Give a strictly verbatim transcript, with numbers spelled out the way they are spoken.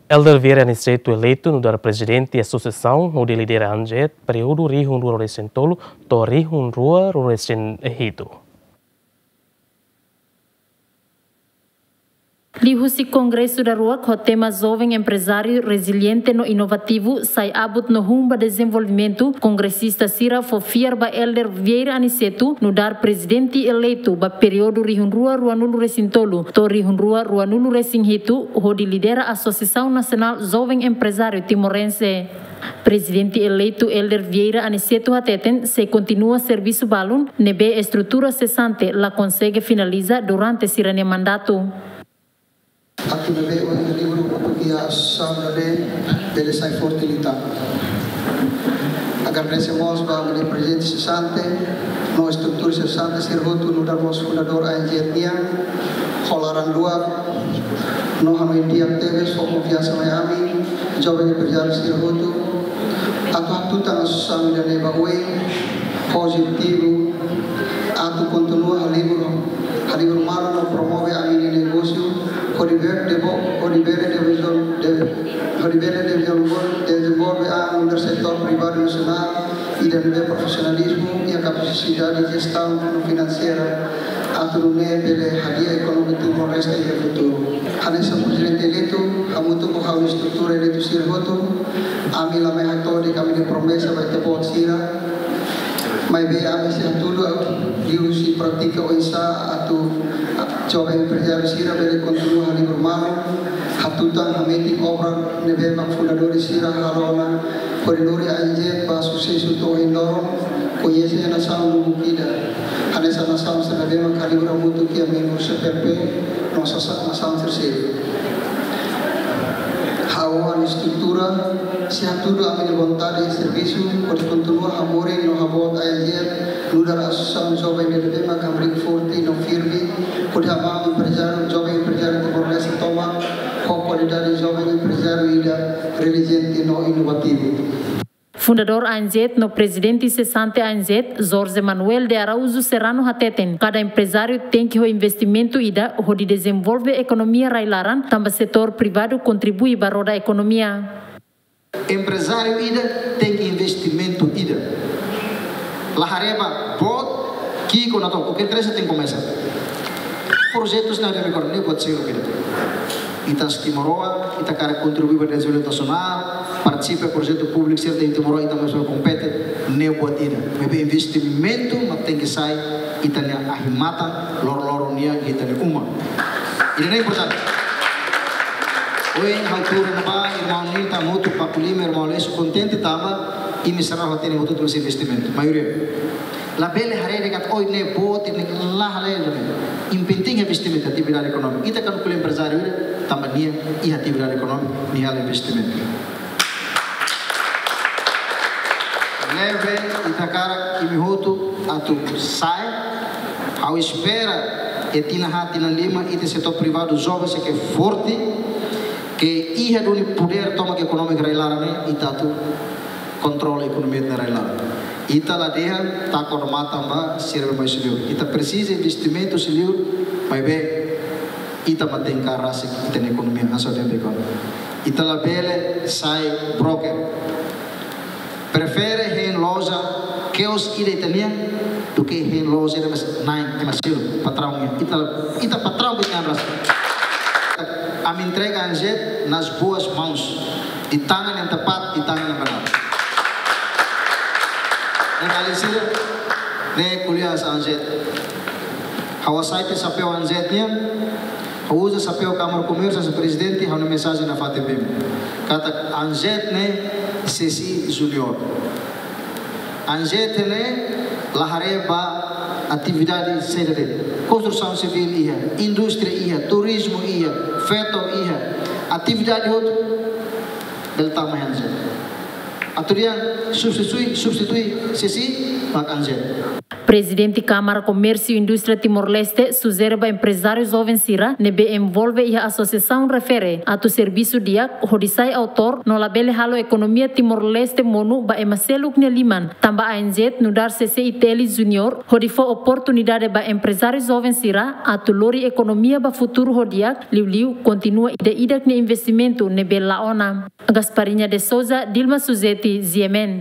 Elder Vieira Aniceto eleitu nu'udar prezidente asosiasaun hodi lidera ANJET períodu rihun rua ruanulu-resin-tolu to'o rihun rua ruanulu-resin-hitu. Liuhusi kongresu daruak ho tema Joven Emprezáriu Reziliente no Inovativu, Sai Abut no Rumo ba Dezenvolvimentu, kongresista sira fó fiar ba Elder Vieira Aniceto nu'udar prezidente eleitu ba períodu rihun rua ruanulu-resin-tolu to'o rihun rua ruanulu-resin-hitu, hodi lidera Asosiasaun Nasionál Joven Emprezáriu Timorense. Prezidente eleitu Elder Vieira Aniceto hateten sei kontinua servisu balun ne'ebé estrutura sesante la konsege finaliza durante sira-nia mandatu. Atu ne'ebé ohin halibur hotu iha asosiasaun ne'e bele sai forte liután. Agradese mós ba ami-nia prezidente sesante no estrutura sesante sira hotu nu'udar mós fundadór ANJET nian, ho laran luak no hanoin di'ak tebes, ho konfiansa mai ami, joven emprezáriu sira hotu, atu hatutan asosiasaun ida-ne'e ba oin, ho objetivu atu kontinua halibur, halibur malu no promove ami-nia negósiu, hodi bele devo-, hodi bele devizo-, de-, hodi bele dezenvolve, dezenvolve ami nu'udar setór privadu nasionál, ida-ne'ebé profisionalizmu iha kapasidade jestaun no finanseira, atu nune'e bele hadi'a ekonomia Timor-Leste iha futuru. Hanesan prezidente eleitu, hamutuk ho ha'u-nia estrutura eleitu sira hotu, ami la mai hato'o de'it ami-nia promesa ba ita-boot sira. Maibé ami sei hatudu liuhusi prátika oinsá atu joven emprezáriu sira bele kontinua halibur malu, hatutan hametin obra ne'ebé mak fundadores sira halo ona, hodi lori ANJET ba susesu to'o ohin loron, koñese nasaun lubuk ida. Hanesan nasaun sira ne'ebé mak halibur hamutuk iha membru CPLP, no sasán nasaun terseira. Ha'u ho ha'u-nia estrutura sei hatudu ami-nia vontade servisu, hodi kontinua hamoris no haboot ANJET, nu'udar asosiasaun joven ne'ebé mak hamriik forte no firme, hodi hamamar emprezáriu, joven emprezáriu Timor-Leste tomak, ho kualidade joven emprezáriu ida reziliente no inovativu. Fundadór ANJET no prezidente sesante ANJET, Jorge Manuel de Araújo Serrano hateten, kada emprezáriu tenke ho investimentu ida hodi dezenvolve ekonomia rai-laran, tanba setór privadu kontribui ba roda ekonomia. Emprezáriu ida tenke investimentu ida. La haree ba boot ki'ik ona to'o, kualkér trese tenke komesa. Projetus na demi kor ne buat sira ida. Ita timoroan, ita hakarak kontribui ba dezenvolvimentu nasionál, partisipa projetu públiku sira iha Timor, ita mós kompete, ne'e buat ida. Maibé investimentu mak tenke sai ita-nia ahi-matan, loroloron nian ita-nia uma. Ida-ne'e importante. Ohin ha'u tuur ona ba irmaun Nilton, hamutuk Paku Lima, irmaun Aleixo, kontente tanba imi sira hotu-hotu investimentu, maioria. Labele haree de'it katak oin ne'e boot, ne'e la, labele. Yang penting investimentu, atividade ekonómika. Ita kuandu ko'alia emprezáriu ida, tanba nia iha atividade ekonómika, nia halo investimentu. Ne'ebé ita hakarak imi hotu atu sai. Ha'u espera iha tinan haat, tinan lima, ita setór privadu joven sei ke forte, ke iha duni podér tomak ekonomia rai-laran ne'e, ita atu kontrola ekonomia rai-laran. Ita la dehan taka odamatan ba sira be mai sira liur. Ita presiza investimentu sira liur, maibé ita mak tenke rasik ita-nia ekonomia, hanesan dehan be kon. Ita labele sai broker. Prefere hein loja, kios ida ita-nian, duké hein loja ida mak na'in ema seluk, patraun nian. Ita, ita patraun ita-nian rasik. Ami entrega ANJET nas boas mãos, di tangan yang tepat, di tangan yang benar. Ne'e, alin sira, ne'e ko'alia ANJET. Ha'u hasai tiha xapéu ANJET nian, ha'u uza xapéu Kámara Komérsiu, hanesan prezidente, ha'u-nia mensajen nafatin ba imi. Katak ANJET ne'e CSI Júnior. ANJET ne'e la haree ba atividade saida de'it. Konstrusaun sivíl iha, indústria iha, turizmu iha, feto iha, atividade hotu bele tama iha ANJET. Atu dehan substitui, substitui CSI, mak ANJET. Prezidente Kámara Komérsiu Indústria Timor-Leste sujere ba emprezáriu joven sira ne'ebé envolve iha asosiasaun refere atu servisu di'ak hodi sai autór no labele halo ekonomia Timor-Leste monu ba ema seluk nia liman, tanba A N Z nu'udar C C I T L Junior hodi fó oportunidade ba emprezáriu joven sira atu lori ekonomia ba futuru ho di'ak, liuliu kontinua ida-idak nia investimentu ne'ebé la'o ona. Gasparinha de Souza, Dilma Suzeti, G M N.